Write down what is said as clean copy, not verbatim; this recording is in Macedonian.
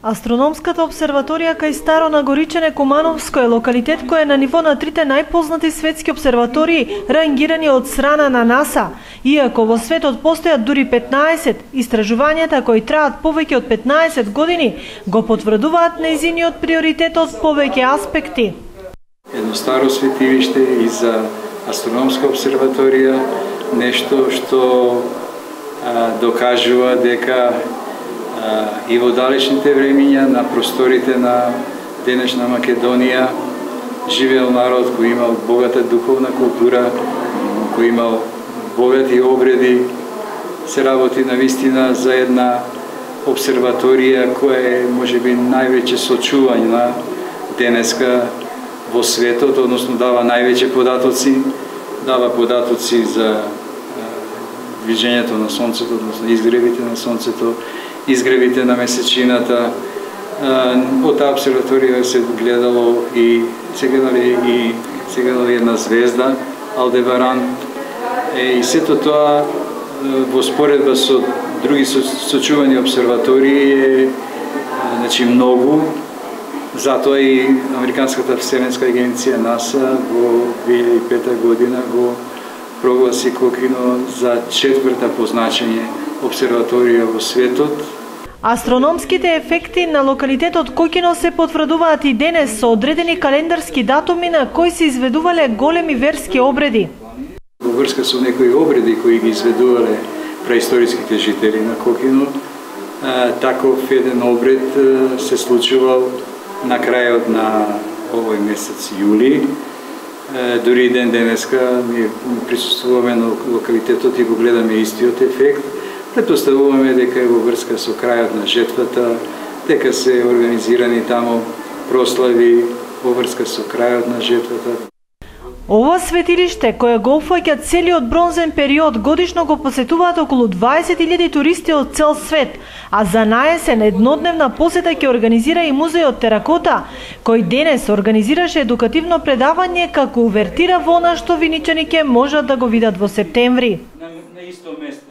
Астрономската обсерваторија кај Старо Нагоричене Кумановско е локалитет кој е на ниво на трите најпознати светски обсерватории рангирани од страна на НАСА. Иако во светот постојат дури 15, истражувањата кои траат повеќе од 15 години го потврдуваат нејзиниот приоритет од повеќе аспекти. Едно старо светилиште и за астрономска обсерваторија, нешто што докажува дека и во далечните времиња на просторите на денешна Македонија живеел народ кој имал богата духовна култура, кој имал богати обреди, се работи навистина за една обсерваторија која е можеби највеќе сочувања денеска во светот, односно дава највеќе податоци, за движењето на сонцето, односно изгревите на сонцето, изгревите на месечината. Од таа обсерваторија се гледало и се гледали една звезда, Алдебаран, и сето тоа во споредба со други сочувани обсерватории е многу. Затоа и Американската вселенска агенција НАСА во 2005 година го прогласи Кокино за четврта по значење обсерваторија во светот. Астрономските ефекти на локалитетот Кокино се потврдуваат и денес со одредени календарски датуми на кои се изведувале големи верски обреди. Во врска со некои обреди кои ги изведувале преисториските жители на Кокино, таков еден обред се случувал на крајот на овој месец јули. Дури ден денеска ние присуствуваме на локалитетот и го гледаме истиот ефект. Претпоставуваме дека е во врска со крајот на жетвата, дека се организирани таму прослави во врска со крајот на жетвата. Ова светилиште, кое го опфаќа целиот бронзен период, годишно го посетуваат околу 20.000 туристи од цел свет, а за наесен еднодневна посета ќе организира и музејот Теракота, кој денес организираше едукативно предавање како увертира во она што виничани ќе можат да го видат во септември. На исто место